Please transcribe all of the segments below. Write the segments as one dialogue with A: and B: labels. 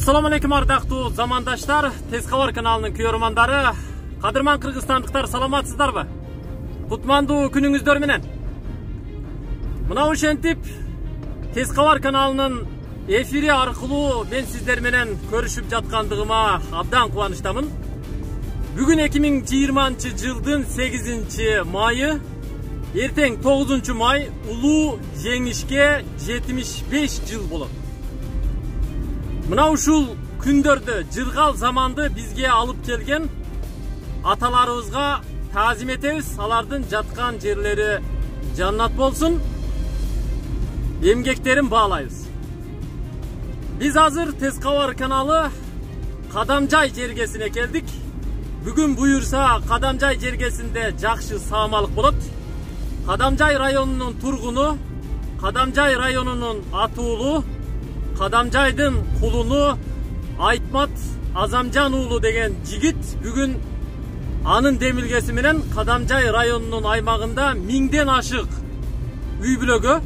A: Assalamu alaikum ардактуу замандаштар, Тез кабар каналынын көрөрмандары, кадырман кыргызстандыктар, саламатсыздарбы? Кутмандуу күнүңүздөр менен. Мына ошентип Тез кабар каналынын эфири аркылуу мен сиздер менен көрүшүп жаткандыгыма абдан кубанычтамын. Бүгүн 2020 жылдын 8 майы, эртең 9 май улуу жеңишке 75 жыл болот. Мына ушул күндөрдө жыргал заманды бизге алып келген аталарыбызга таазим этебиз. Алардын жаткан жерлери жаннат болсун. Эмгектерин баалайбыз. Биз азыр Тез кабар каналы Кадамжай жергесине келдик. Бүгүн буюрса Кадамжай жергесинде жакшы саамалык болот. Кадамжай районунун тургуну, Кадамжай районунун атуулу, Кадамжайдын кулуну Айтмат Азамжан уулу деген жигит бүгүн анын демилгеси менен Кадамжай районунун аймагында 1000ден ашык үй бүлөгө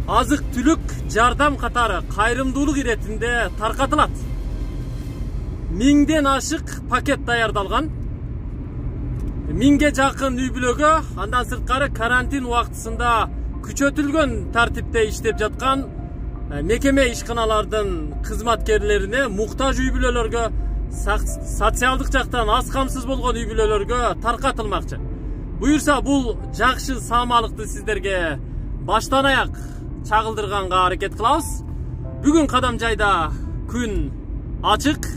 A: азык түлүк жардам катары кайрымдуулук иретинде таркатылат. 1000ден ашык пакет даярдалган. 1000ге жакын үй бүлөгө, андан сырткары карантин убактысында күчөтүлгөн тартипте иштеп жаткан мекеме ишканалардын кызматкерлерине, муктаж үй бүлөлөргө, социалдык жактан аз камсыз болгон үй бүлөлөргө таркатылмакчы. Буюрса бул жакшы саамалыкты сиздерге баштан аяк чагылдырганга аракет кылабыз. Бүгүн Кадамжайда күн ачык,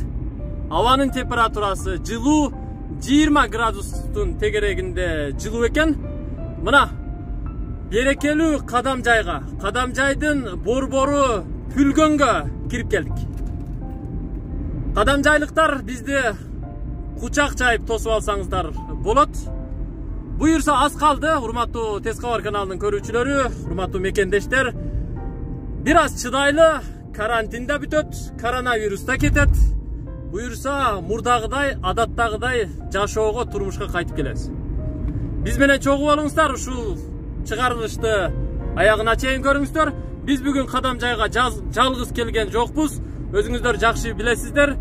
A: абанын температурасы жылуу, 20 градустун тегерегинде жылуу экен. Мына берекелүү Кадамжайга, Кадамжайдын борбору Пүлгөнгө кирип келдик. Кадамжайлыктар бизди кучак чайып тосуп алсаңыздар болот. Буюрса аз калды, урматтуу Тез кабар каналынын көрүүчүлөрү, урматтуу мекендештер. Бир аз чыдайлы, карантин да бүтөт, коронавирус да кетет. Буюрса мурдагыдай, адаттагыдай жашоого, турмушка кайтып келебиз. Биз менен чогуу болуңуздар, ушул чыгарылышты аягына чейин көрүңүздөр. Биз бүгүн Кадамжайга жалгыз келген жокпуз. Өзүңүздөр жакшы билесиздер.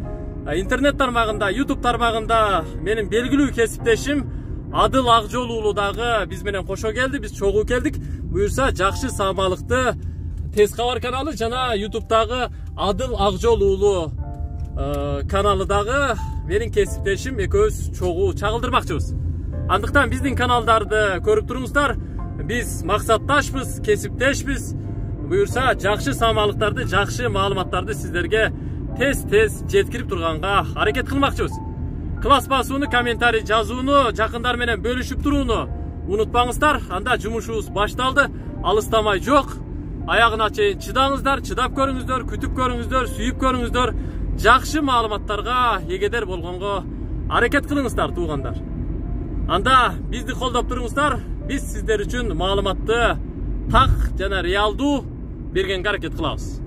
A: Интернет тармагында, YouTube тармагында менин белгилүү кесиптешим Адыл Акжол уулу дагы биз менен кошо келди. Биз чогуу келдик. Буюрса жакшы саамалыкты Тез кабар каналы жана YouTube'дагы Адыл Акжол уулу каналы дагы менин кесиптешим экөөбүз чогуу чагылдырмакчыбыз. Андыктан биздин каналдарды көрүп туруңуздар. Биз максатташпыз, кесиптешпиз. Буюрса жакшы саамалыктарды, жакшы маалыматтарды сиздерге тез жеткирип турганга аракет кылмакчыбыз. Класс басууну, комментарий жазууну, жакындар менен бөлүшүп турууну унутпаңыздар. Анда жумушубуз башталды. Алыстамай жок. Аягына чейин чыдаңыздар, чыдап көрүңүздөр, күтүп көрүңүздөр, сүйүп көрүңүздөр. Жакшы маалыматтарга эгедер болгонго аракет кылыңыздар, туугандар. Анда бизди колдоп туруңуздар. Биз сиздер үчүн маалыматты так жана реалдуу бергенге аракет кылабыз.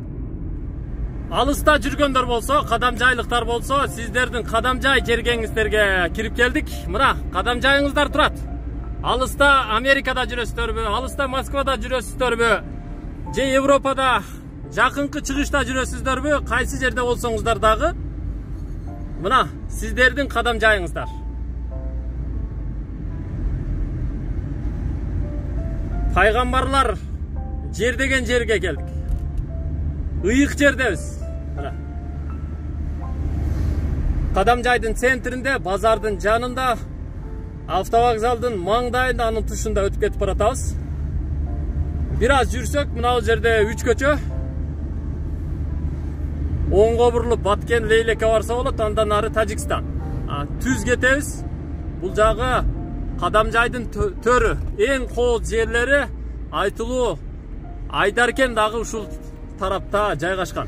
A: Алыста жүргөндөр болсо, кадамжайлыктар болсо, сиздердин Кадамжай жергеңиздерге кирип келдик. Мына Кадамжайыңыздар турат. Алыста Америкада жүрөсүздөрбү, алыста Москвада жүрөсүздөрбү, же Европада жакынкы чыгышта жүрөсүздөрбү, кайсы жерде болсоңуздар дагы мына сиздердин Кадамжайыңыздар. Пайгамбарлар жер деген жерге келдик. Ыйык жердебиз. Кадамжайдын центринде, базардын жанында, автовокзалдын маңдайында, анын тушунда өтүп кетип баратабыз. Бир аз жүрсөк, мына бул жерде 3 көчө. Оңго бурулуп Баткен Лейлекке барса болот, андан ары Тажикстан. Түз кетебиз. Бул жагы Кадамжайдын төрү, эң кооз жерлери айтылуу Айдаркен дагы ушул тарапта жайгашкан.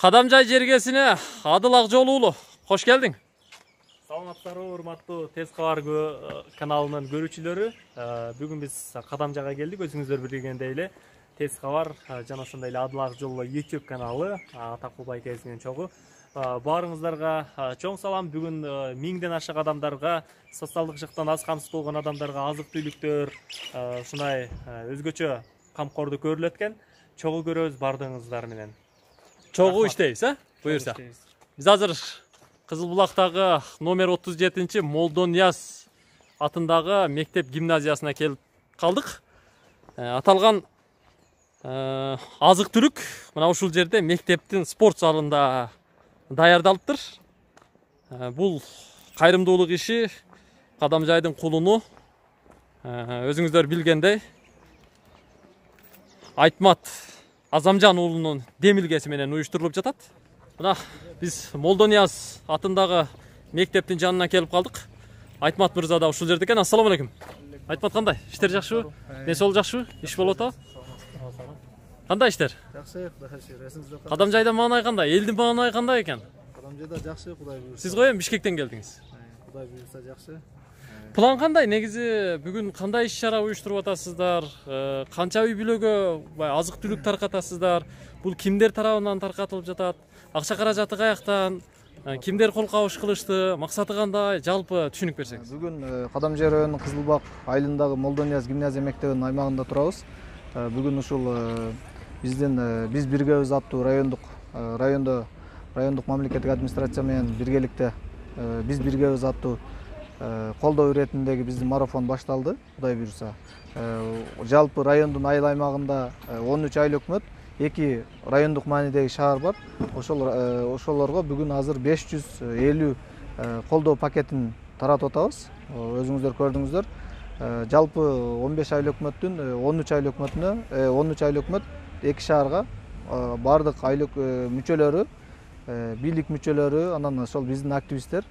A: Кадамжай жергесине Адыл Акжол уулу, кош келдиң. Саламатсыздарбы, урматтуу Тез кабар каналынын көрүүчүлөрү. Бүгүн биз Кадамжайга келдик. Өзүңүздөр билгендей эле Тез кабар жана ошондой эле Адыл Акжол YouTube каналы атактуу байкебиз менен чогуу. Баарыңыздарга чоң салам. Бүгүн 1000ден ашык адамдарга, социалдык жактан аз камсыз болгон адамдарга азык-түлүктөр, ушундай өзгөчө камкордуу көрүлөт экен. Чогуу көрөбүз бардыгыңыздар менен. Чогуу иштейбиз, буюрса. Биз азыр Кызыл Булактагы номер 37 Молдонияз атындагы мектеп гимназиясына келип калдык. Аталган азык-түлүк мына ушул жерде мектептин спорт залында даярдалыптыр. Бул кайрымдуулук иши Кадамжайдын кулуну өзүңүздөр билгендей Айтмат Азамжан уулунун демилгеси менен уюштурулуп жатат. Мына биз Молдонияз атындагы мектептин жанына келип калдык. Айтмат мырза да ушул жерде экен. Ассаламу алейкум. Айтмат кандай? Иштер жакшыбы? Несол жакшыбы? Иш болуп атабы? Кандай иштер?
B: Жакшы, Кудайга
A: Кадамжайда маанай кандай? Элдин маанай кандай экен?
B: Кадамжайда жакшы, Кудай буйрса.
A: Сиз коем Бишкектен келдиңиз.
B: Кудай буйрса жакшы.
A: План кандай? Негизи бүгүн кандай иш-чара уюштуруп атасыздар? Канча үй бүлөгө азык-түлүк таркатасыздар? Бул кимдер тарабынан таркатылып жатат? Акча каражаты каяктан? Кимдер кол кабыш кылышты? Максаты кандай? Жалпы түшүнүк берсеңиз.
B: Бүгүн Кадамжай районунун Кызылбак айылындагы Молдонияз гимназия мектебинин аймагында турабыз. Бүгүн ушул биз биргебиз аттуу райондук мамлекеттик администрация менен биргеликте биз биргебиз аттуу колдоо иретиндеги биздин марафон башталды, Кудай буйрса. Жалпы райондун айыл аймагында 13 айыл өкмөт, 2 райондук маанидеги шаар бар. Ошолорго бүгүн азыр 550 колдоо пакетин таратып атабыз. Өзүңүздөр көрдүңүздөр. Жалпы 15 айыл өкмөттүн 13 айыл өкмөтүнө 13 айыл өкмөт 2 шаарга бардык айыл мүчөлөрү, бийлик мүчөлөрү, анан ошол биздин активисттер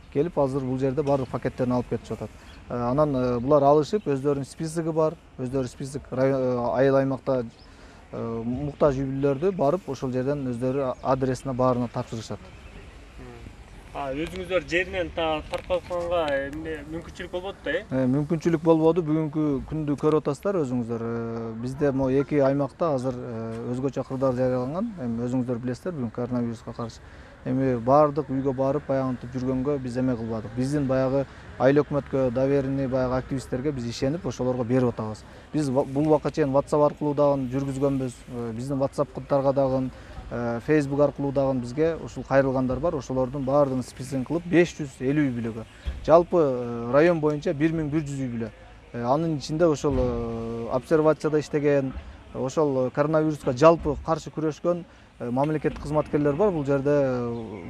B: келип азыр бул жерде бардык пакеттерин алып кетип жатат. Анан булар алышып, өздөрүнүн списоги бар, өздөрү список айыл аймакта муктаж үй бүлөлөрдү барып ошол жерден өздөрү адресине баарына тапшырышат.
A: Өзүңүздөр жеринен таркатканга мүмкүнчүлүк болбоду да,
B: Мүмкүнчүлүк болбоду. Бүгүнкү күндү көрүп атасыздар өзүңүздөр. Бизде могу 2 аймакта азыр өзгөчө кырдаал жарыяланган. Эми өзүңүздөр билесиздер, бүгүн коронавируска каршы. Эми бардык үйгө барып баягынтип жүргөнгө биз эме кылбадык. Биздин баягы айыл өкмөткө доверенный баягы активисттерге биз ишенип ошолорго берип атабыз. Биз бул убакка чейин WhatsApp аркылуу дагы жүргүзгөнбүз. Биздин WhatsApp каттарга дагы Facebook аркылуу дагы бизге ушул кайрылгандар бар. Ошолордун баардыгын списогун кылып 550 үй бүлөгө. Жалпы район боюнча 1100 үй бүлө. Анын ичинде ошол обсервацияда иштеген, ошол коронавируска жалпы каршы күрөшкөн мамлекеттик кызматкерлер бар. Бул жерде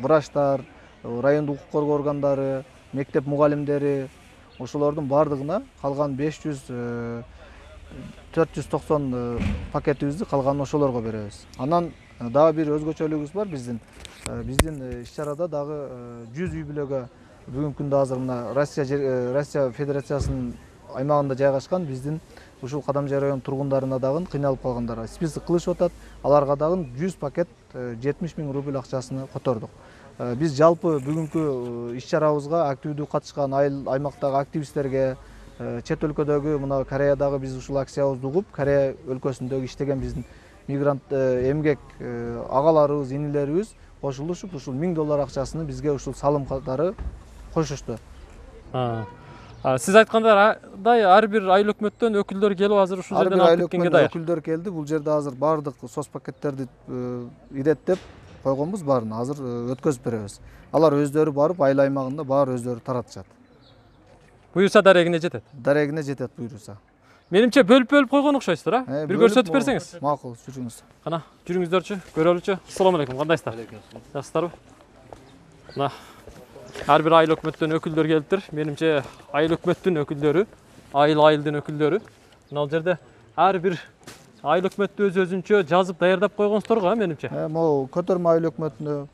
B: врачтар, райондук укук коргоо органдары, мектеп мугалимдери, ошолордун баардыгына калган 490 пакетибизди калганын ошолорго беребиз. Анан дагы бир өзгөчөлүгүбүз бар биздин. Биздин иш-чарада дагы 100 үй бүлөгө бүгүнкү күндө азыр мына Россия Федерациясынын аймагында жайгашкан биздин ушул Кадамжай район тургундарына дагы кыйналып калгандар список кылышып атат. Аларга дагы 100 пакет 70 000 рубль акчасын котордук. Биз жалпы бүгүнкү иш-чарабызга активдүү катышкан айыл аймактагы активисттерге, чет өлкөдөгү мына Кореядагы биз ушул акциябызды угуп, Корея өлкөсүндөгү иштеген биздин мигрант эмгек агаларыбыз, инилерибиз кошулушуп ушул $1000 акчасыны бизге ушул салым катары кошушту.
A: Сиз айткандай ар бир айыл өкмөттөн өкүлдөр келип азыр ушул жерден алып кеткенге даяр.
B: Өкүлдөр келди. Бул жерде азыр бардык соцпакеттерди иреттеп койгонбуз, баарын азыр өткөзүп беребиз. Алар өздөрү барып айыл аймагында баары өздөрү таратышат.
A: Буюрса дарегине жетет.
B: Дарегине жетет буюрса.
A: Менимче бөлүп койгон окшойсуздар, Бир көрсөтүп берсеңиз.
B: Макул, жүрүңүз.
A: Кана, жүрүңүздөрчү, көрөлүчү. Ассаламу алейкум, кандайсыздар? Жакшысыздарбы? Мына ар бир айыл өкмөттөн өкүлдөр келиптир. Менимче айыл өкмөттүн өкүлдөрү, айылдын өкүлдөрү. Мына бул жерде ар бир айыл өкмөттү өз-өзүнчө жазып даярдап койгонсуздар го, менимче.
B: Могу көтөрмө айыл өкмөтүнө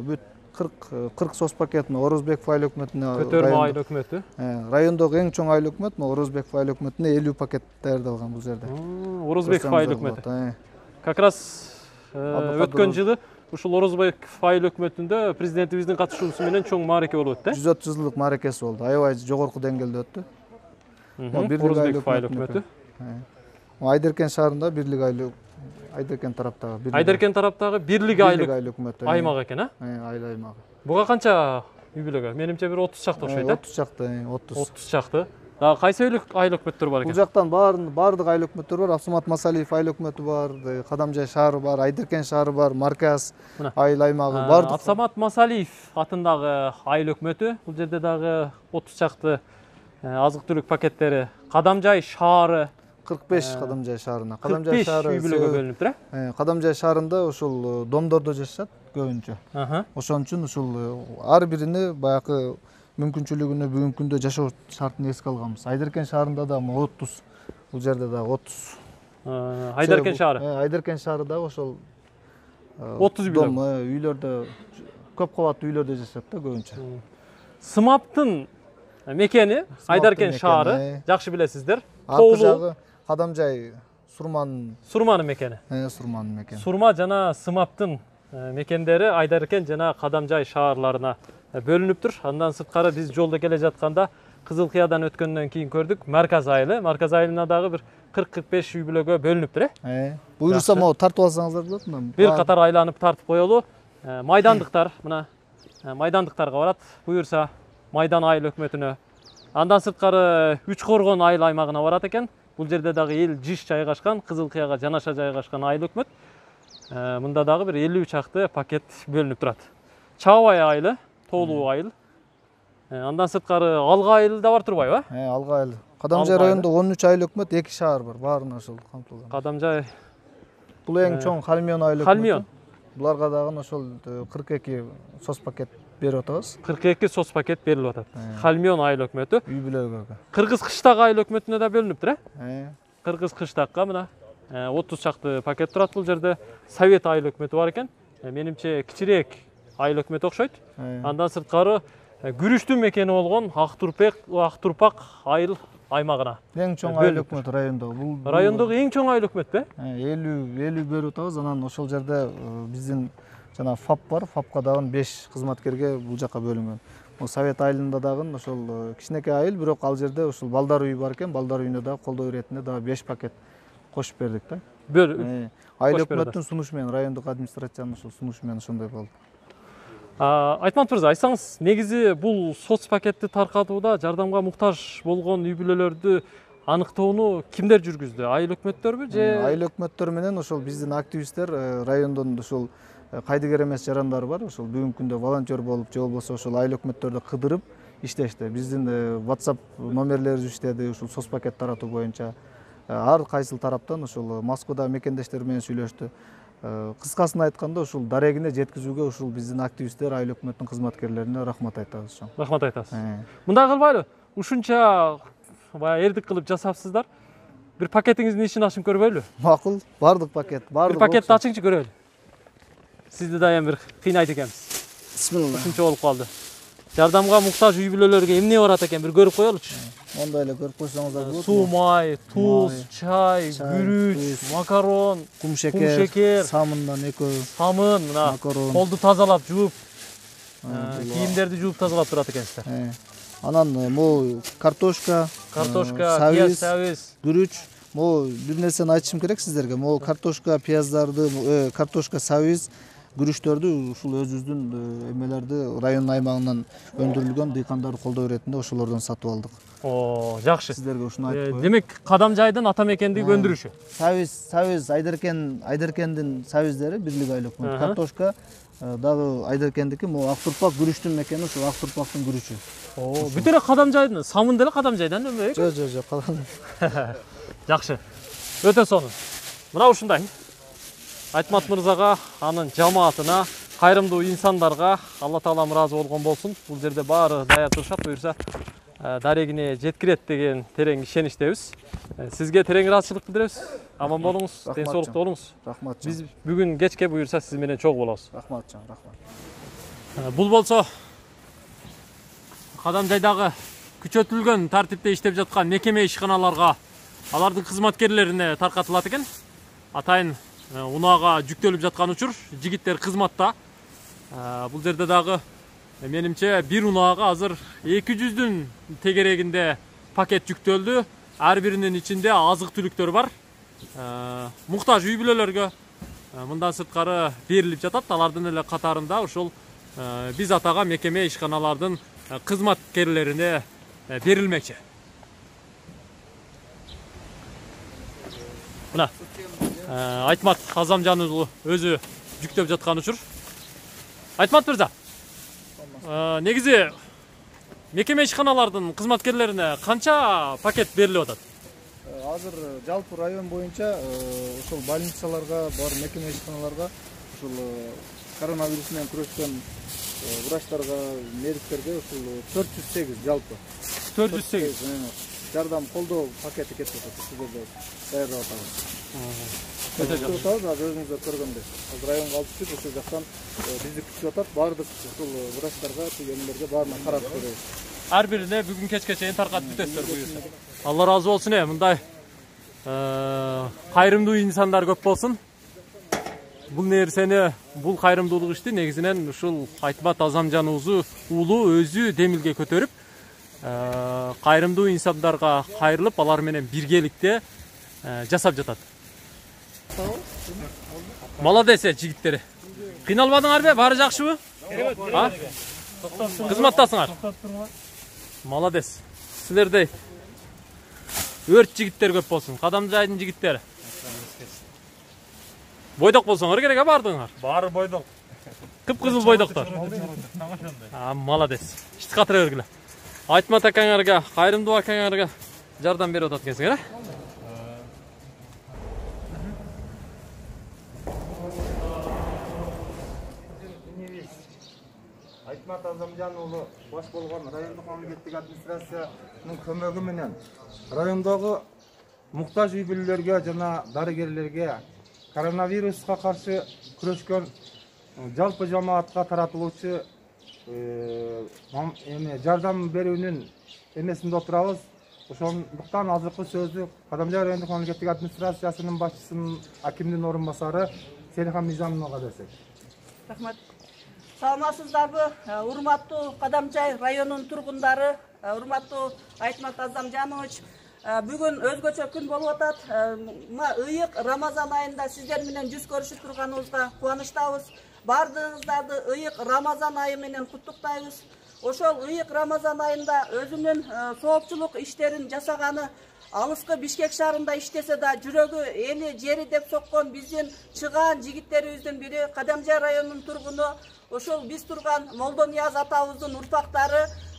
B: бүт 40 соцпакет Орозбеков айыл өкмөтүнө
A: көтөрмө айыл өкмөтү.
B: Райондогу эң чоң айыл өкмөт Орозбеков айыл өкмөтүнө 50 пакет даярдалган бул жерде.
A: Орозбеков айыл өкмөтү. Как раз өткөн жылы ушул Орозбеков айыл өкмөтүндө президентибиздин катышуусу менен чоң маареке болуп өттү.
B: 130 жылдык мааракеси болду. Аябай жогорку деңгээлде өттү.
A: Орозбеков айыл өкмөтү.
B: Айдеркен шаарында Бирлик айыл Айдеркен тараптагы
A: Айдеркен тараптагы Бирлик айыл
B: өкмөтү
A: аймак экен, а?
B: Айыл аймагы.
A: Буга канча үй бүлөгө? Менимче бир 30 чакты окшойт,
B: 30 чакты,
A: 30 чакты. Дагы кайсы айыл өкмөттөр бар экен?
B: Бул жактан баардык айыл өкмөттөр бар. Абсамат Масалиев айыл өкмөтү бар, Кадамжай шаары бар, Айдеркен шаары бар, Марказ айыл аймагы бар.
A: Абсамат Масалиев атындагы айыл өкмөтү. Бул жерде дагы 30 чакты азык-түлүк пакеттери. Кадамжай шаары
B: 45 Кадамжай шаарына.
A: 45 үй бүлөгө бөлүнүптүр, э?
B: Кадамжай шаарында ушул домдордо жашашат көбүнчө. Ошон үчүн ушул ар бирине баягы мүмкүнчүлүгүнө бүгүнкү күндө жашоо шартын эске алганбыз. Айдеркен шаарында да 30, бул жерде да 30.
A: Айдеркен шаары.
B: Айдеркен шаары да ошол
A: 30 үй бүлө.
B: Үйлөрдө көп кабаттуу үйлөрдө жашашат да көбүнчө.
A: Сымаптын мекени Айдеркен шаары, жакшы билесиздер.
B: Аркы жагы Кадамжай Сурманын
A: мекени.
B: Сурманын мекени.
A: Сурма жана Сымаптын мекендери Айдеркен жана Кадамжай шаарларына бөлүнүптүр. Андан сырткары биз жолдо келе жатканда Кызыл Кыядан өткөндөн кийин көрдүк Марказ айылы. Марказ айылына дагы бир 40-45 үй бүлөгө бөлүнүптүр, э?
B: Буюрса могу тартып алсаңыздар болот мына.
A: Бир катар айланып тартып коелу. Майдандыктар мына майдандыктарга барат. Буюрса Майдан айыл өкмөтүнө. Андан сырткары Үч Коргон айыл аймагына барат экен. Бул жерде дагы эл жиш жайгашкан, Кызыл Кыяга жанаша жайгашкан айыл өкмөт. Мында дагы бир 50 чакты пакет бөлүнүп турат. Чаабай айылы, Тоолуу айыл. Андан сырткары Алга айылы да бар турбайбы?
B: Алга айыл. Кадамжай районунда 13 айыл өкмөт, 2 шаар бар. Баарына ошол камтылган.
A: Кадамжай.
B: Бул эң чоң Халмион айыл өкмөтү.
A: Халмион.
B: Буларга дагы ошол 42 соц пакет берип атабыз.
A: 42 соц пакет берилип атат. Халмион айыл өкмөтү.
B: Үй бүлөгө.
A: Кыргыз Кыштак айыл өкмөтүнө да бөлүнүптүр,
B: э?
A: Кыргыз Кыштакка мына 30 чакты пакет турат. Бул жерде Совет айыл өкмөтү бар экен. Менимче кичирээк айыл өкмөт окшойт. Андан сырткары күрүштүн мекени болгон Актурпак айыл аймагына.
B: Эң чоң айыл өкмөт райондо.
A: Бул райондогу эң чоң айыл өкмөтпү?
B: 50 берип атабыз. Анан ошол жерде биздин жана ФАП бар. ФАПка дагы 5 кызматкерге бул жака бөлүнгөн. Совет айылында дагы ошол кичинекей айыл, бирок ал жерде ошол балдар үйү бар экен. Балдар үйүнө дагы колдоо иретинде дагы 5 пакет кошуп бердик да. Айыл өкмөттүн сунушу менен, райондук администрациянын ошол сунушу менен ошондой болду.
A: Айтмат мырза, айтсаңыз, негизи бул соц пакетти таркатууда жардамга муктаж болгон үй бүлөлөрдү аныктоону кимдер жүргүздү? Айыл өкмөттөрбү же?
B: Айыл өкмөттөр менен ошол биздин активисттер, райондон ошол кайдыгер эмес жарандар бар. Ошол бүгүнкү күндө волонтер болуп, же болбосо ошол айыл өкмөттөрдү кыдырып иштешти. Биздин WhatsApp номерлерибиз иштеди, ушул соц пакет таратуу боюнча. Ар кайсыл тараптан ошол Москвада мекендештер менен сүйлөштү. Кыскасын айтканда ушул дарегине жеткизүүгө ушул биздин активисттер, айыл өкмөттүн кызматкерлерине рахмат айтабыз.
A: Рахмат айтасыз. Мындай кылбайлы, ушунча баягы эрдик кылып жасапсыздар. Бир пакетиңиздин ишин ачып көрбөйлү?
B: Макул, бардык пакет, бардык.
A: Бир пакетти ачыңчы көрөлү. Сизди да эми бир кыйнайт экенбиз.
B: Бисмилла.
A: Ушунча болуп калды. Жардамга муктаж үй бүлөлөргө эмне барат экен, бир көрүп коелучу.
B: Мондай эле көрүп койсоңуздар болот.
A: Суу, май, туз, чай, күрүч, макарон,
B: кумшекер, самындан экөө.
A: Самын, мына колду тазалап, жууп, кийимдерди жууп тазалап турат экенсиздер.
B: Анан могу картошка,
A: пияз, сабиз,
B: күрүч. Могу бир нерсени айтышым керек сиздерге. Могу картошка, пияздарды, картошка, сабиз, күрүчтөрдү ушул өзүбүздүн эмелерди район аймагынан өндүрүлгөн дыйкандарды колдоо иретинде ошолордон сатып алдык.
A: Жакшы.
B: Сиздерге ушуну айтып коеюн.
A: Демек, Кадамжайдын ата мекендиги өндүрүшү.
B: Сабиз Айдеркендин сабиздери Бирлик айыл өкмөтү. Картошка дагы Айдеркендики, могу Актурпак күрүчтүн мекени, ушул Актурпактын күрүчү.
A: Бүт эле Кадамжайдын, самын деле Кадамжайдан өлбөйбү?
B: Жок.
A: Жакшы. Өтө сонун. Мына ушундай. Айтмат мырзага, анын жамаатына, кайрымдуу инсандарга Алла Таалам ыраазы болгон болсун. Бул жерде баары даяр турушат, буюрса дарегине жеткирет деген терең ишеничтебиз. Сизге терең ыраазычылык билдиребиз. Аман болуңуз, ден-соолукта болуңуз.
B: Рахмат.
A: Биз бүгүн кечке буюрса сиз менен чогуу болобуз.
B: Рахмат, рахмат.
A: Бул болсо Кадамжайдагы күчөтүлгөн тартипте иштеп жаткан мекеме ишканаларга, алардын кызматкерлерине таркатылат экен. Атайын унаага жүктөлүп жаткан учур. Жигиттер кызматта. Бул жерде дагы менимче бир унаага азыр 200дүн тегерегинде пакет жүктөлдү. Ар биринин ичинде азык түлүктөр бар. Муктаж үй бүлөлөргө мындан сырткары берилип жатат. Алардын эле катарында ошол биз атаган мекеме ишканалардын кызматкерлерине берилмекчи. Мына Айтмат Азамжан уулу өзү жүктөп жаткан учур. Айтмат мырза, негизи мекеме ишканалардын кызматкерлерине канча пакет берилип атат?
B: Азыр жалпы район боюнча ошол больницаларга бар мекеме ишканаларга ушул коронавирус менен күрөшкөн врачтарга, медиктерге ушул 408 жалпы 408 жардам колдоо пакети кетип атат. Ушул жерде даярдап атабыз. Өзүңүздөр көргөндөй. Азыр районго алып чыгып ошол жактан бизди күтүп атат. Баардык ушул врачтарга, тигендерге баарына карап беребиз.
A: Ар бирине бүгүн кечке чейин таркатып бүтөсүздөр буюрса. Алла разы болсун. Мындай кайрымдуу инсандар көп болсун. Бул нерсени, бул кайрымдуулук ишти негизинен ушул Айтмат Азамжан уулу өзү демилге көтөрүп, кайрымдуу инсандарга кайрылып, алар менен биргеликте жасап жатат. Молодец жигиттери. Кыйналбадыңарбы? Баары жакшыбы? Кызматтасыңар. Молодец. Силердей өрт жигиттер көп болсун. Кадамжайдын жигиттери. Бойдок болсоңор керек баардыгыңар.
C: Баары бойдок.
A: Кып-кызыл бойдоктор. Молодец. Ишти катыра бергиле. Айтмат акаңарга, кайрымдуу акаңарга жардам берип атат экенсиңер,
C: Айтмат Азамжан уулу баш болгон райондук мамлекеттик администрациянын көмөгү менен райондогу муктаж үй бүлөлөргө жана дарыгерлерге коронавируска каршы күрөшкөн жалпы жамаатка таратылуучу жардам берүүнүн эмесинде отурабыз. Ошондуктан азыркы сөздү Кадамжай райондук мамлекеттик администрациясынын башчысынын акимдин орун басары Селихан Мизамовага берсек.
D: Рахмат. Саламатсыздарбы, урматтуу Кадамжай районунун тургундары, урматтуу Айтмат Азамжанович. Бүгүн өзгөчө күн болуп атат. Ыйык Рамазан айында сиздер менен жүз көрүшүп турганыбызга кубанычтабыз. Бардыгыңыздарды ыйык Рамазан айы менен куттуктайбыз. Ошол ыйык Рамазан айында өзүнүн соопчулук иштерин жасаганы, алыскы Бишкек шаарында иштесе да жүрөгү эли жери деп соккон биздин чыгаан жигиттерибиздин бири Кадамжай районунун тургуну, ошол биз турган Молдонияз атабыздын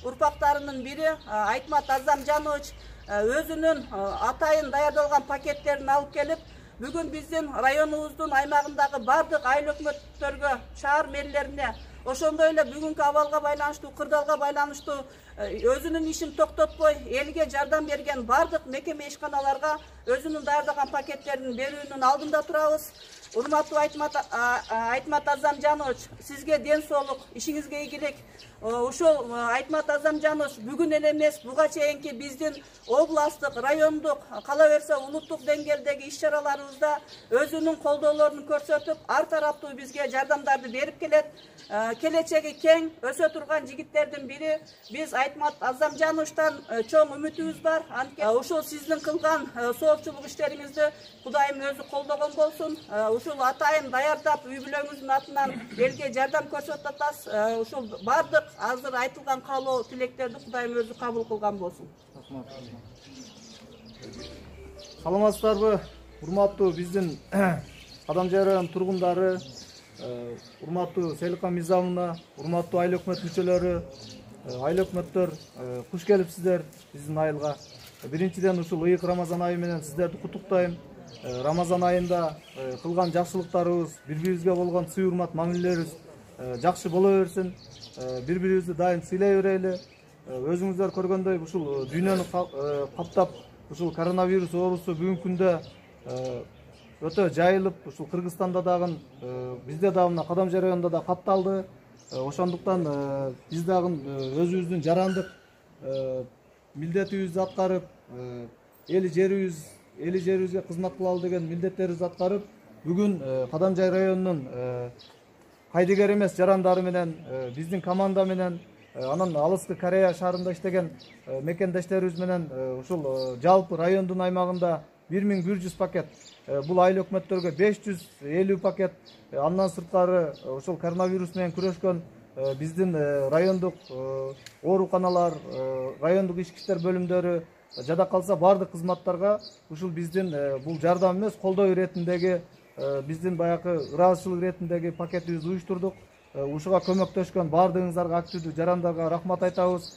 D: урпактарынын бири Айтмат Азамжанович өзүнүн атайын даярдалган пакеттерин алып келип, бүгүн биздин районубуздун аймагындагы бардык айыл өкмөттөргө, шаар мэрлерине, ошондой эле бүгүнкү абалга байланыштуу, кырдаалга байланыштуу өзүнүн ишин токтотпой элге жардам берген бардык мекеме ишканаларга өзүнүн даярдаган пакеттерин берүүнүн алдында турабыз. Урматтуу Айтмат Азамжанович, сизге ден соолук, ишиңизге ийгилик. Ушул Айтмат Азамжанович бүгүн эле эмес, буга чейинки биздин областтык, райондук, кала берсе улуттук деңгээлдеги иш-чараларыбызда өзүнүн колдоолорун көрсөтүп, ар тараптуу бизге жардамдарды берип келет. Келечеги кең өсө турган жигиттердин бири биз Айтмат Азамжановичтан чоң үмүтүбүз бар. Ушул сиздин кылган соопчулук иштериңизди Кудайым өзү колдогон болсун. Ушул атайын даярдап үй бүлөңүздүн атынан элге жардам көрсөтүп атасыз. Ушул бардык азыр айтылган каалоо тилектерди Кудайым өзү кабыл кылган болсун.
B: Саламатсыздарбы, урматтуу биздин Кадамжай районунун тургундары, урматтуу Селихан Мизамовна, урматтуу айыл өкмөт мүчөлөрү, айыл өкмөттөр, куш келипсиздер биздин айылга. Биринчиден ушул ыйык Рамазан айы менен сиздерди куттуктайм. Рамазан айында кылган жакшылыктарыбыз, бири-бирибизге болгон сый урмат мамилелерибиз жакшы боло берсин. Бири-бирибизди дайым сыйлай берели. Өзүңүздөр көргөндөй ушул дүйнөнү каптап ушул коронавирус оорусу бүгүнкү күндө өтө жайылып, ушул Кыргызстанда дагы, бизде дагы мына Кадамжай районунда да катталды. Ошондуктан биз дагы өзүбүздүн жарандык милдетибизди аткарып, эли жерибизге кызмат кылалы деген милдеттерибизди аткарып, бүгүн Кадамжай районунун кайдыгер эмес жарандары менен биздин команда менен анан алыскы Корея шаарында иштеген мекендештерибиз менен ушул жалпы райондун аймагында 1100 пакет, бул айыл өкмөттөргө 550 пакет, андан сырткары ушул коронавирус менен күрөшкөн биздин райондук ооруканалар, райондук ички иштер бөлүмдөрү, жада калса бардык кызматтарга ушул биздин бул жардам эмес, колдоо иретиндеги биздин баягы ыраазычылык иретиндеги пакетибизди уюштурдук. Ушуга көмөктөшкөн бардыгыңыздарга, активдүү жарандарга рахмат айтабыз.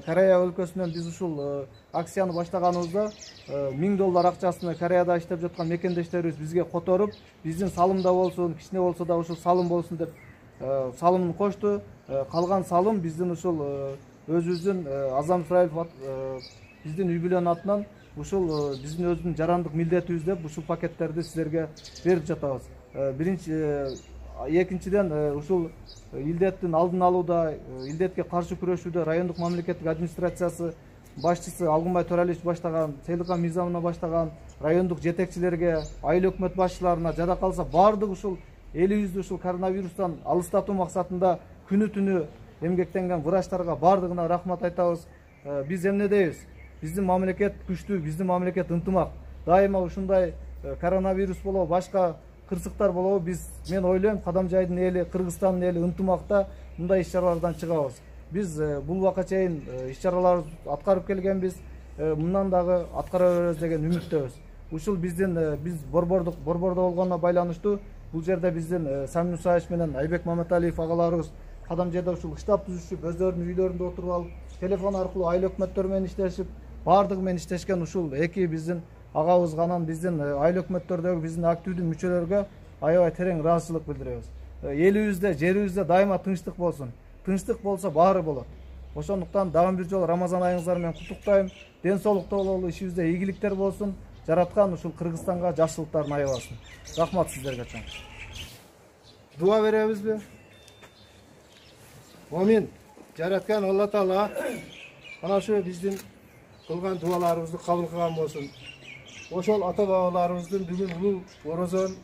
B: Корея өлкөсүнөн биз ушул акцияны баштаганыбызда $1000 акчасына Кореяда иштеп жаткан мекендештерибиз бизге которуп, биздин салымда болсун, кичине болсо да ушул салым болсун деп салымын кошту. Калган салым биздин ушул өзүбүздүн Азам Исраилов биздин үй бүлөнүн атынан ушул биздин өзүбүздүн жарандык милдетибиз деп ушул пакеттерди силерге берип жатабыз. Экинчиден ушул илдеттин алдын алууда, илдетке каршы күрөшүүдө райондук мамлекеттик администрациясы башчысы Алгынбай Төралиевич баштаган, Сейликан Мыйзамовна баштаган райондук жетекчилерге, айыл өкмөт башчыларына, жада калса бардык ушул элибизди ушул коронавирустан алыстатуу максатында күнү түнү эмгектенген врачтарга бардыгына рахмат айтабыз. Биз эмне дейбиз? Биздин мамлекет күчтүү, биздин мамлекет ынтымак. Дайыма ушундай коронавирус болобу, башка кырсыктар болобу, мен ойлойм Кадамжайдын эли, Кыргызстандын эли ынтымакта мындай иш-чаралардан чыгабыз. Биз бул убакка чейин иш-чараларды аткарып келгенбиз, мындан дагы аткара беребиз деген үмүттөбүз. Ушул биз борбордо болгонуна байланыштуу бул жерде биздин Самин Мусаевич менен Айбек Маматалиев агаларыбыз Кадамжайда ушул штаб түзүшүп, өздөрүнүн үйлөрүндө отуруп алып, телефон аркылуу айыл өкмөттөр менен иштешип, бардыгы менен иштешкен ушул эки биздин агабызга, анан биздин айыл өкмөттөрдөгү биздин активдүү мүчөлөргө аябай терең ыраазычылык билдиребиз. Элибизде, жерибизде дайыма тынчтык болсун. Тынчтык болсо баары болот. Ошондуктан дагы бир жолу Рамазан айыңыздар менен куттуктайм. Ден соолукта бололу, ишибизде ийгиликтер болсун. Жараткан ушул Кыргызстанга жакшылыктарын аябасын. Рахмат сиздерге чоң.
C: Дуа беребизби? Амин. Жараткан Алла Таала ana şu биздин кылган дуаларыбызды кабыл кылган болсун. Ошол ата бабаларыбыздын бүгүн улуу орозон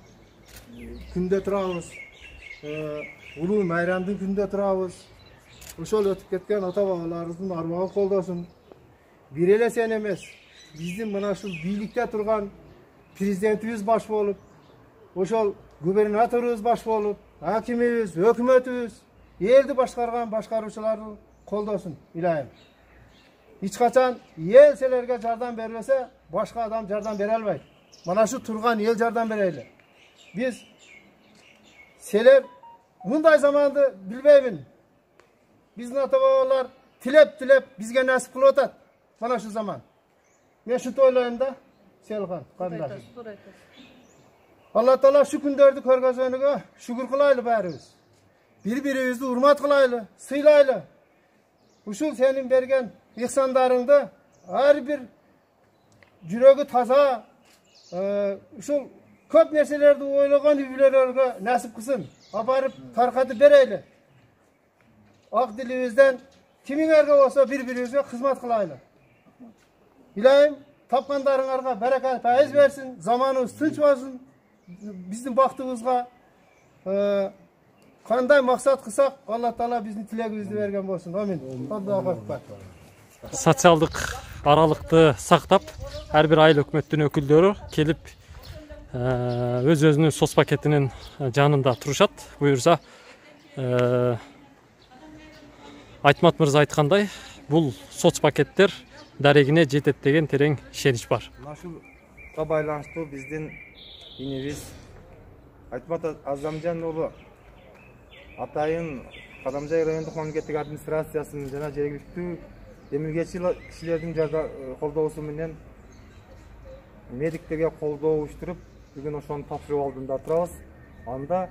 C: күндө турабыз. Улуу майрамдын күндө турабыз. Ошол өтүп кеткен ата бабаларыбыздын армагын колдосун. Бир эле сен эмес, биздин мына ушул бийликте турган президентибиз баш болуп, ошол губернаторубуз баш болуп, акимибиз, өкмөтүбүз, элди башкарган башкаруучуларды колдосун, илайым. Hiç kaçan ел селерге жардам бербесе, башка адам жардам бере албайт. Мына шу турган ел жардам берели. Биз селер мындай заманды билбеймин. Биздин ата бабалар тилеп бизге насип кылып атат. Мына шу заман. Мен шунт ойлойм да, Селхан, кандаш. Алла Таала шу күндөрдү көргөзгөнүгө шүгүр кылайлы баарыбыз. Бири-бирибизди урмат кылайлы, сыйлайлы. Ушул сенин берген ihsanlarında her bir жүрөгү таза, ушул көп нерселерди ойлогон үй-бүлөлөргө насип кылсын. Апарып таркатып берели. Ак дилибизден кимиңерге болсо бири-бирибизге кызмат кылайлы. Илайым тапкандарыңарга баракат пайыз берсин, заманыбыз тынч болсун, биздин бактыбызга кандай максат кылсак, Алла Таала биздин тилегибизди берген болсун. Амин. Аллаху акбар.
A: Социалдык аралыкты сактап, ар бир айыл өкмөттүн өкүлдөрү келип өз-өзүнүн соц пакетинин жанында турушат. Буюрса, Айтмат мырза айткандай, бул соц пакеттер дарегине жетет деген терең ишенич бар.
C: Ушулга байланыштуу биздин инибиз Айтмат Азамжан уулу атайын Кадамжай райондук мамлекеттик администрациясынын жана жергиликтүү эмилгечи кишилердин колдоосу менен медиктерге колдоо уюштуруп, бүгүн ошонун тапшыруу алдында турабыз. Анда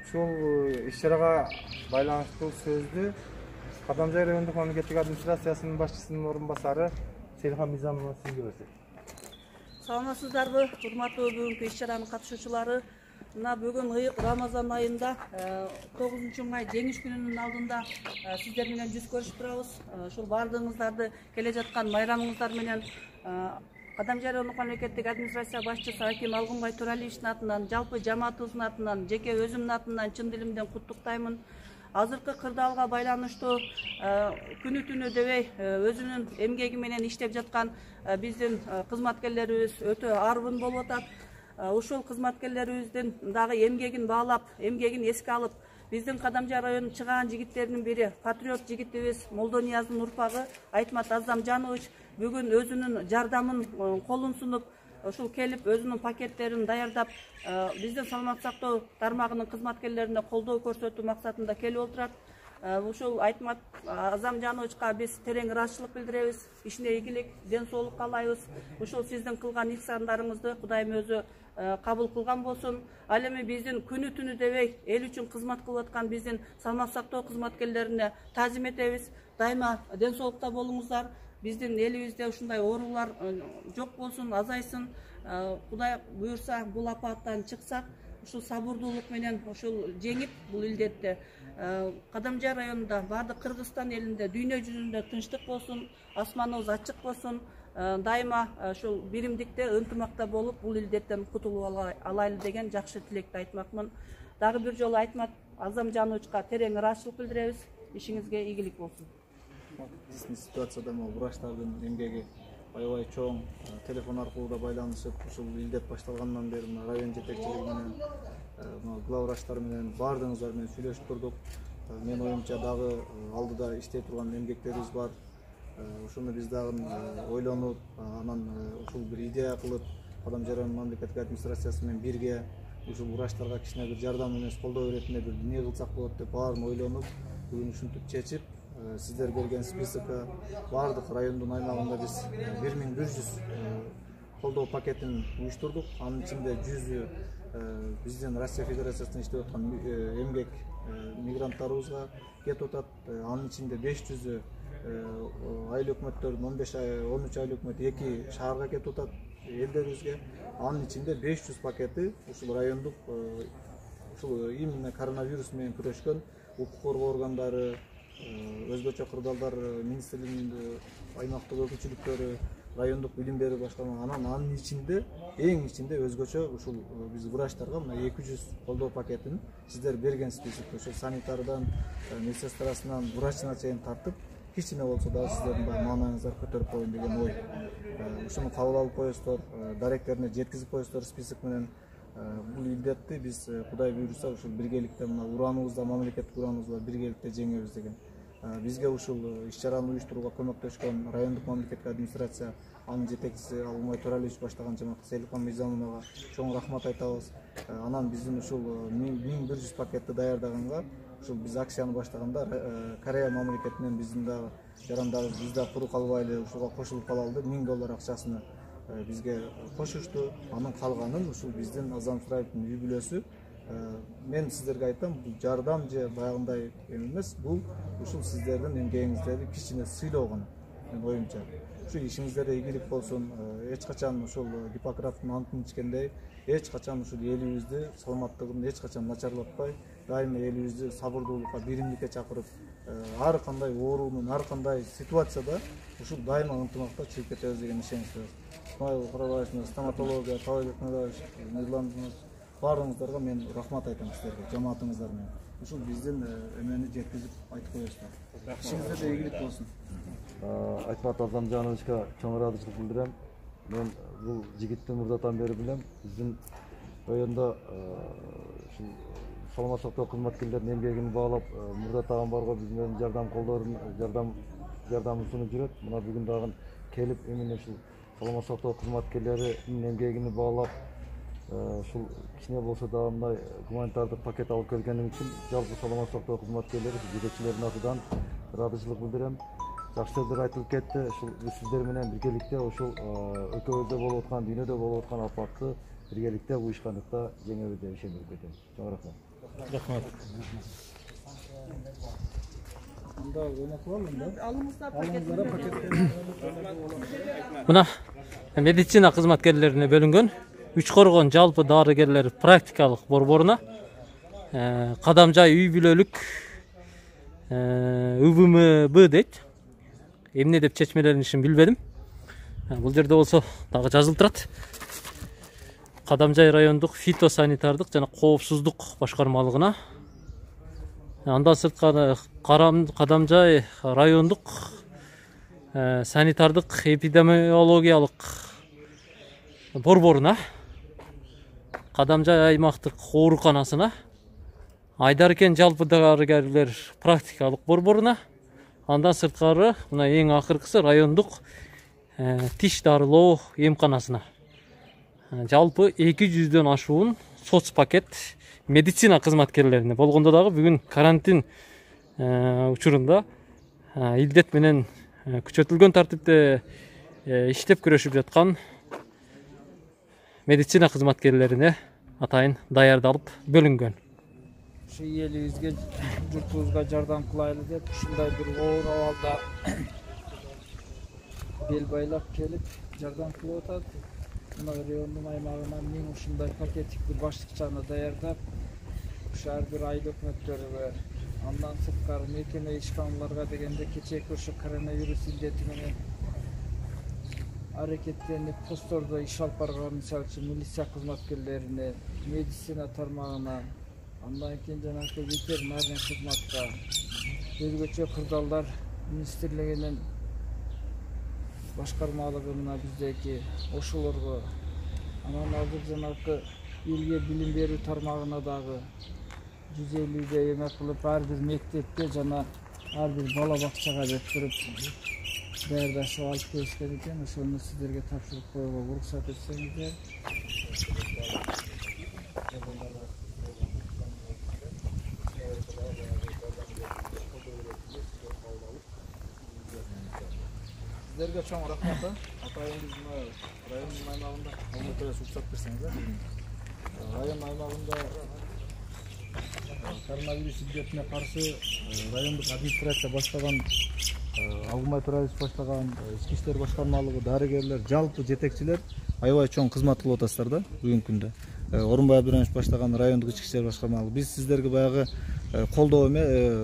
C: ушул иш-чарага байланыштуу сөздү Кадамжай райондук мамлекеттик администрациясынын башчысынын орун басары Сейликан Мыйзамовна сизге берсек.
D: Саламатсыздарбы, урматтуу бүгүнкү иш-чаранын катышуучулары. Мына бүгүн Рамазан айында 9-май жеңиш күнүнүн алдында сиздер менен жүз көрүшүп турабыз. Ушул бардыгыңыздарды келе жаткан майрамыңыздар менен Кадамжай райондук мамлекеттик администрация башчысы Аким Алгынбай Туралиевичтин атынан, жалпы жамаатыбыздын атынан, жеке өзүмдүн атынан чын дилимден куттуктаймын. Азыркы кырдаалга байланыштуу күнү түнү дебей өзүнүн эмгеги менен иштеп жаткан биздин кызматкерлерибиз өтө арбын болуп атат. Ушул кызматкерлерибиздин дагы эмгегин баалап, эмгегин эске алып, биздин Кадамжай районунун чыгаан жигиттеринин бири патриот жигитибиз Молдонияздын урпагы Айтмат Азамжанович бүгүн өзүнүн жардамын колун сунуп, ушул келип өзүнүн пакеттерин даярдап, биздин саламаттык сактоо тармагынын кызматкерлерине колдоо көрсөтүү максатында келип отурат. Ушул Айтмат Азамжановичка биз терең ыраазычылык билдиребиз. Ишине ийгилик, ден соолук каалайбыз. Ушул сиздин кылган ихсандарыңызды Кудайым өзү кабыл кылган болсун. Ал эми биздин күнү түнү дебей эл үчүн кызмат кылып аткан биздин саламаттык сактоо кызматкерлерине таазим этебиз. Дайыма ден соолукта болуңуздар. Биздин элибизде ушундай оорулар жок болсун, азайсын. Кудай буйрса бул апаттан чыксак, ушул сабырдуулук менен ушул жеңип бул илдетти. Кадамжай районунда, бардык Кыргызстан элинде, дүйнө жүзүндө тынчтык болсун, асманыбыз ачык болсун. Дайыма ушул биримдикте, ынтымакта болуп, бул илдеттен кутулуп алайлы деген жакшы тилекти айтмакмын. Дагы бир жолу Айтмат Азамжановичка терең ыраазычылык билдиребиз. Ишиңизге ийгилик болсун.
B: Биздин ситуацияда врачтардын эмгеги аябай чоң. Телефон аркылуу да байланышып, ушул илдет башталгандан бери район жетекчилиги менен, главврачтар менен баардыгыңыздар менен сүйлөшүп турдук. Мен оюмча дагы алдыда иштей турган эмгектерибиз бар. Ушуну биз дагы ойлонуп, анан ушул бир идея кылып, Кадамжай район мамлекеттик администрациясы менен бирге ушул врачтарга кичине бир жардам эмес колдоо иретинде бир эмне кылсак болот деп баарын ойлонуп, бүгүн ушинтип чечип, сиздер берген списокко баардык райондун аймагында биз 1100 колдоо пакетин уюштурдук. Анын ичинде 100 биздин Россия Федерациясында иштеп аткан эмгек мигранттарыбызга кетип атат. Анын ичинде 500 айыл өкмөттөрдүн 13 айыл өкмөт 2 шаарга кетип атат элдерибизге. Анын ичинде 500 пакети ушул райондук ушул именно коронавирус менен күрөшкөн укук коргоо органдары, өзгөчө кырдаалдар министрлигинин аймактык өкүлчүлүктөрү, райондук билим берүү башкарма, анын ичинде эң ичинде өзгөчө ушул биз врачтарга мына 200 колдоо пакетин сиздер берген список, ошо санитардан, медсестрасынан, врачына чейин тартып, кичине болсо дагы сиздердин маанайыңыздар көтөрүп коеюн деген ой. Ушуну кабыл алып коесуздар, даректерине жеткизип коесуздар список менен. Бул илдетти биз Кудай буйрса ушул биргеликте мына урааныбызда, мамлекеттик урааныбызда биргеликте жеңебиз деген. Бизге ушул иш-чараны уюштурууга көмөктөшкөн райондук мамлекеттик администрация, анын жетекчиси Алгынбай Туралиевич баштаган жамаат Селикан Мыйзамовага чоң рахмат айтабыз. Анан биздин ушул 1100 пакетти даярдаганга ушул биз акцияны баштаганда Корея мамлекетинен биздин дагы жарандары биз да куру калбайлы ушуга кошулуп калалы деп $1000 акчасына бизге кошушту. Анын калганын ушул биздин Азам Сыраевдин үй бүлөсү. Мен сиздерге айтам, бул жардам же баягындай эмес, бул ушул сиздердин эмгегиңиздерди кичине сыйлоо гана. Мен оюмча. Ушул ишиңиздерде ийгилик болсун. Эч качан ушул Гиппократтын антын ичкендей, эч качан ушул элибизди саламаттыгын эч качан начарлатпай, дайыма элибизди сабырдуулукка, биримдикке чакырып, ар кандай оорунун, ар кандай ситуацияда ушул дайыма ынтымакта чыгып кетебиз деген ишенимдебиз. Исмаил Курабаевдин стоматология, Талайбек Мыраевич, Мирлан, баарыңыздарга мен рахмат айтам сиздерге, жамаатыңыздар менен. Ушул биздин эмени жеткизип айтып коесуздар. Ишиңизде ийгилик болсун.
E: Айтмат Азамжановичка чоң ыраазычылык билдирем. Мен бул жигитти мурдатан бери билем. Биздин райондо ушул саламаттык сактоо кызматкерлеринин эмгегин баалап, мурдатаган барго биз менен жардам колдорун, жардамын сунуп жүрөт. Мына бүгүн дагы келип, эмне ушул саламаттык сактоо кызматкерлеринин эмгегин баалап, ушул кичине болсо дагы мындай гуманитардык пакет алып келгеним үчүн жалпы саламаттык сактоо кызматкерлери, жетекчилердин атынан ыраазычылык билдирем. Жакшы сөздөр айтылып кетти. Ушул сиздер менен биргеликте ушул өлкөбүздө болуп аткан, дүйнөдө болуп аткан апатты биргеликте уюшкандыкта жеңебиз деп ишенип кетем. Чоң рахмат.
A: Рахмат.
B: Анда ойнотулам да.
D: Алыңыздар пакетти.
A: Мына медицина кызматкерлерине бөлүнгөн үч коргон жалпы дарыгерлер практикалык борборуна Кадамжай үй бүлөлүк УВМБ дейт. Эмне деп чечмеленишин билбедим. Бул жерде болсо дагы жазылып турат. Кадамжай райондук фитосанитардык жана коопсуздук башкармалыгына. Андан сырткары Кадамжай райондук санитардык эпидемиологиялык борборуна, Кадамжай аймактык ооруканасына, Айдаркен жалпы дарыгерлер практикалык борборуна, андан сырткары мына эң акыркысы райондук тиш дарылоо эмканасына. Жалпы 200дөн ашуун соц пакет медицина кызматкерлерине болгондо дагы бүгүн карантин учурунда илдет менен күчөтүлгөн тартипте иштеп күрөшүп жаткан медицина кызматкерлерине атайын даярдалып бөлүнгөн.
F: Ушу элибизге, журтубузга жардам кылайлы деп ушундай бир оор абалда бел байлап келип жардам кылып атат. Мына райондун аймагынан мен ушундай пакеттик бир баштыкчаны даярдап, ушу ар бир айыл өкмөттөргө, андан сырткары мекеме ишканаларга дегенде кечээки ушу коронавирус илдети менен аракеттенип посттордо иш алып барган, мисалы үчүн милиция кызматкерлерине, медицина тармагына, андан кийин жанагы ветеринарный кызматка, өзгөчө кырдаалдар министрлигинин башкармалыгы мына биздеки ошолорго, анан азыр жанагы элге билим берүү тармагына дагы 150 эме кылып ар бир мектепте жана ар бир бала бакчага деп туруп даярдашып алып келишкен экен. Ошону сиздерге тапшырып коюуга уруксат этсеңиздер. Сиздерге чоң рахмат. Атайын биз мына райондун аймагында алматыга уруксат берсеңиздер. Район аймагында коронавирус илдетине каршы райондук администрация баштаган, Агумай Тураевич баштаган, ички иштер башкармалыгы, дарыгерлер, жалпы жетекчилер аябай чоң кызмат кылып атасыздар да бүгүнкү күндө. Орунбай Абдурахимович баштаган райондук ички иштер башкармалыгы. Биз сиздерге баягы колдоо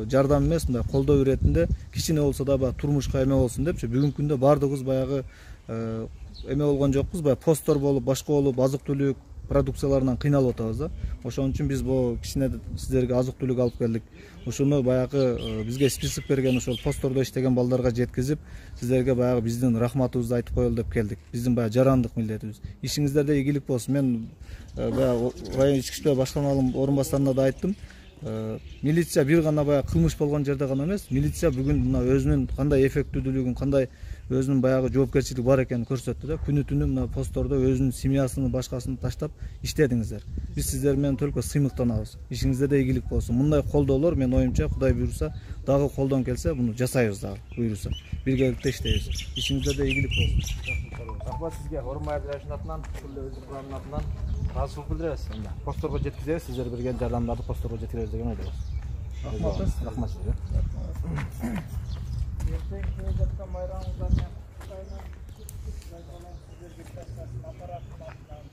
F: жардам эмес, мындай колдоо иретинде кичине болсо да баягы турмушка эме болсун депчи бүгүнкү күндө баардыгыбыз баягы эме болгон жокпуз, баягы посттор болуп, башка болуп, азык-түлүк продукцияларынан кыйналып атабыз да. Ошон үчүн биз бул кичине сиздерге азык-түлүк алып келдик. Ушуну баягы бизге список берген ошол посттордо иштеген балдарга жеткизип, сиздерге баягы биздин рахматыбызды айтып коелу деп келдик. Биздин баягы жарандык милдетибиз. Ишиңиздерде ийгилик болсун. Мен баягы район ички иштер башкармалыгынын орун басарына да айттым. Милиция бир гана баягы кылмыш болгон жерде гана эмес, милиция бүгүн мына өзүнүн кандай эффектүүлүгүн, кандай өзүнүн баягы жоопкерчилиги бар экенин көрсөттү да. Күнү-түнү мына посттордо өзүнүн семьясынын башкасын таштап иштедиңиздер. Биз сиздер менен только сыймыктанабыз. Ишиңиздерде ийгилик болсун. Мындай колдоолор мен оюмча Кудай буйруса дагы колдон келсе муну жасайбыз дагы буйруса. Биргеликте иштейбиз. Ишиңиздерде ийгилик болсун.
G: Рахмат сизге, Орунбай Абдурахимовичтин атынан, күллү өз курамдын атынан ыраазычылык билдиребиз. Постторго жеткизебиз, сиздер берген жардамдарды постторго жеткиребиз деген ойдобуз.
B: Рахмат.
G: Рахмат сизге.
F: Ертең келе жатқан майрамыңыздармен Кытайдан сіздерге тастасын аппараттың атынан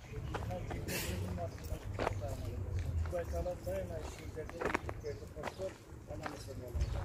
F: Кудай таала дайыма ишиңиздерде ийгиликтерди коштоп аман эсен болуңуздар.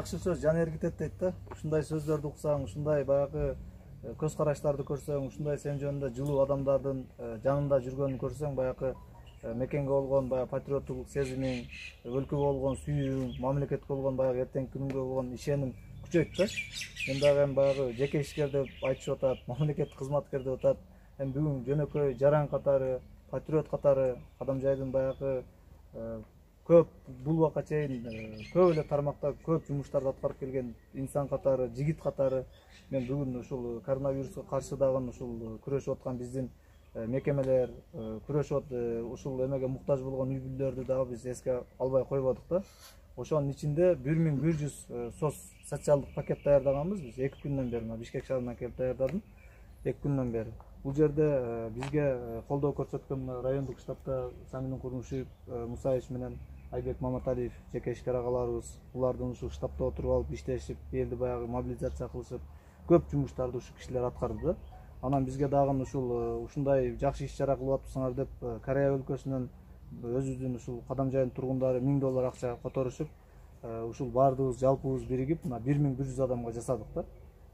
B: жакшы сөз жан эргитет дейт да. Ушундай сөздөрдү уксаң, ушундай баягы көз караштарды көрсөң, ушундай сен жөнүндө жылуу адамдардын жанында жүргөнүн көрсөң, баягы мекенге болгон баягы патриоттук сезимиң, өлкөгө болгон сүйүүң, мамлекетке болгон баягы эртеңки күнгө болгон ишеним күчөйт да. Мен дагы эми баягы жеке ишкер деп айтышып атат, мамлекеттик кызматкер деп атат. Эми бүгүн жөнөкөй жаран катары, патриот катары Кадамжайдын баягы көп бул убакка чейин көп эле тармакта көп жумуштарды аткарып келген инсан катары, жигит катары мен бүгүн ушул коронавируска каршы дагы ушул күрөшүп аткан биздин мекемелер күрөшүп ушул эмеге муктаж болгон үй бүлөлөрдү дагы биз эске албай койбодук да. Ошонун ичинде 1100 сос социалдык пакет даярдаганбыз биз 2 күндөн бери. Бишкек шаарынан келип даярдадым 2 күндөн бери. Бул жерде бизге колдоо көрсөткөн райондук штабта Самин Курмушев, Мусаевич менен Айбек Маматалиев жеке ишкер агаларыбыз, булардын ушул штабта отуруп алып иштешип, элди баягы мобилизация кылышып, көп жумуштарды ушул кишилер аткарды да. Анан бизге дагы ушундай жакшы иш чара кылып атпсыңар деп Корея өлкөсүнөн өзүбүздүн ушул Кадамжайдын тургундары $1000 акча которушуп, ушул баардыгыбыз жалпыбыз биригип, 1100 адамга жасадык да.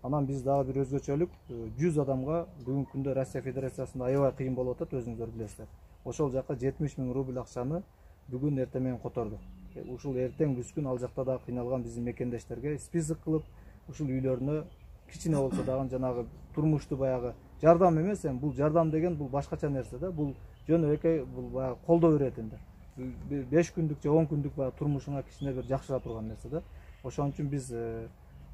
B: Анан биз дагы бир өзгөчөлүк 100 адамга бүгүнкү күндө Россия Федерациясында аябай кыйын болуп атат, өзүңүздөр билесиздер. Ошол жака 70 000 рубль акчаны бүгүн эртең менен котордук. Ушул эртең бүскүн ал жакта да кыйналган биздин мекендештерге список кылып, ушул үйлөрүнө кичине болсо дагы жанагы турмушту баягы жардам эмес, бул жардам деген бул башкача нерсе да. Бул жөнөкөй бул баягы колдоо иретинде. 5 күндүк же 10 күндүк баягы турмушуңа кичине бир жакшыра турган нерсе да. Ошон үчүн биз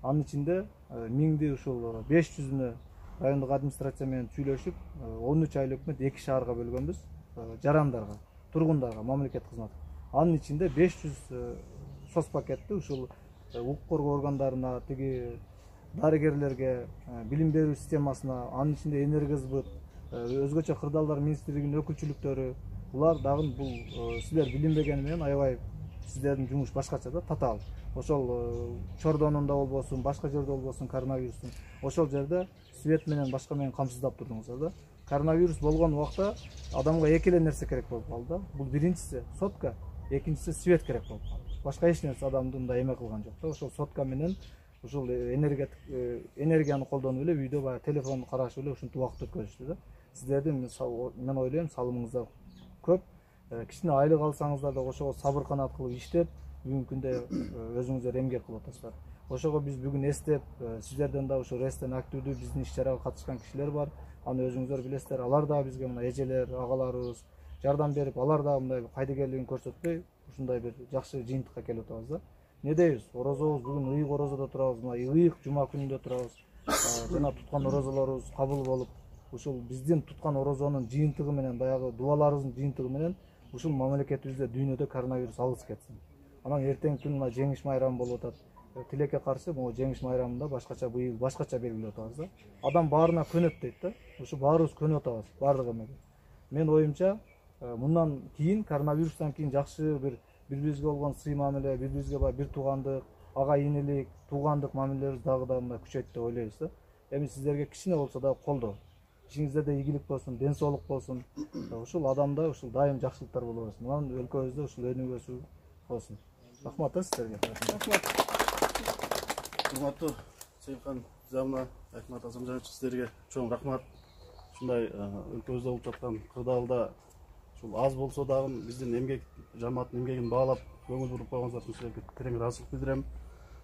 B: анын ичинде 1000 ушул 500-үнө райондук администрация менен сүйлөшүп, 13 айлык өкмөт 2 шаарга бөлгөнбүз. Жарандарга, тургундарга, мамлекет кызмат. Анын ичинде 500 сос пакетти ушул укук коргоо органдарына, тиги дарыгерлерге, билим берүү системасына, анын ичинде энергосбыт, өзгөчө кырдаалдар министрлигинин өкүлчүлүктөрү, булар дагы бул силер билинбегени менен аябай сиздердин жумуш башкача да, татаал. Ошол Чордонунда болбосун, башка жерде болбосун коронавирустун, ошол жерде свет менен башка менен камсыздап турдуңуздар да. Коронавирус болгон убакта адамга эки эле нерсе керек болуп калды да. Бул биринчиси сотка, экинчиси свет керек болуп калды. Башка эч нерсе адамды мындай эме кылган жок да. Ошол сотка менен ушул энергияны колдонуп эле үйдө баягы телефон карашып эле ушинтип убакыт өткөрүштү да. Сиздердин мен ойлойм салымыңыздар көп. Кичине айлык алсаңыздар да ошого сабыр канат кылып иштеп, бүгүнкү күндө өзүңүздөр эмгек кылып атасыздар. Ошого биз бүгүн эстеп, сиздерден да ушул рестен активдүү биздин иш чарага катышкан кишилер бар. Аны өзүңүздөр билесиздер. Алар да бизге мына эжелер, агаларыбыз жардам берип, алар да мындай кайдыгерлигин көрсөтпөй, ушундай бир жакшы жыйынтыкка келип атабыз да. Не дейбиз? Орозобуз бүгүн ыйык орозодо турабыз, мына ыйык жума күнүндө турабыз. Жана туткан орозолорубуз кабыл болуп, ушул биздин туткан орозонун жыйынтыгы менен, баягы дубаларыбыздын жыйынтыгы менен ушул мамлекетибизде дүйнөдө коронавирус алыс кетсин. Анан эртеңки күн мына жеңиш майрамы болуп атат. Тилекке каршы могу жеңиш майрамында башкача быйыл башкача белгилеп атабыз да. Адам баарына көнөт дейт да. Ушу баарыбыз көнүп атабыз, баардык эмеге. Мен оюмча, мындан кийин коронавирустан кийин жакшы бири-бирибизге болгон сый мамиле, бири-бирибизге бир туугандык, ага инелик, туугандык мамилелерибиз дагы да мындай күчөйт деп ойлойбуз да. Эми сиздерге кичине болсо да колдоо. Ишиңиздерде ийгилик болсун, ден соолук болсун. Ушул адамда ушул дайым жакшылыктар боло берсин. Анан өлкөбүздө ушул өнүгүүсү болсун. Рахмат сиздерге. Рахмат.
H: Урматтуу Сейилхан Замна, Айтмат Азамжанович, сиздерге чоң рахмат. Ушундай өлкөбүздө болуп жаткан кырдаалда ушул аз болсо дагы биздин эмгек жамааттын эмгегин баалап көңүл буруп койгоңуздар үчүн силерге терең ыраазычылык билдирем.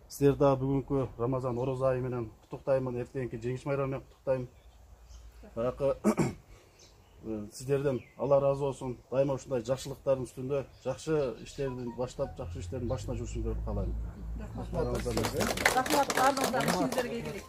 H: Сиздер дагы бүгүнкү Рамазан орозо айы менен куттуктаймын, эртеңки жеңиш майрамы менен куттуктайм. Баягы сиздерден Алла ыраазы болсун. Дайыма ушундай жакшылыктардын үстүндө жакшы иштерди баштап, жакшы иштердин башына жүрүшүңүздөрдү каалайм. Рахмат. Рахмат. Баардыгыңыздарга ишиңиздерге ийгилик.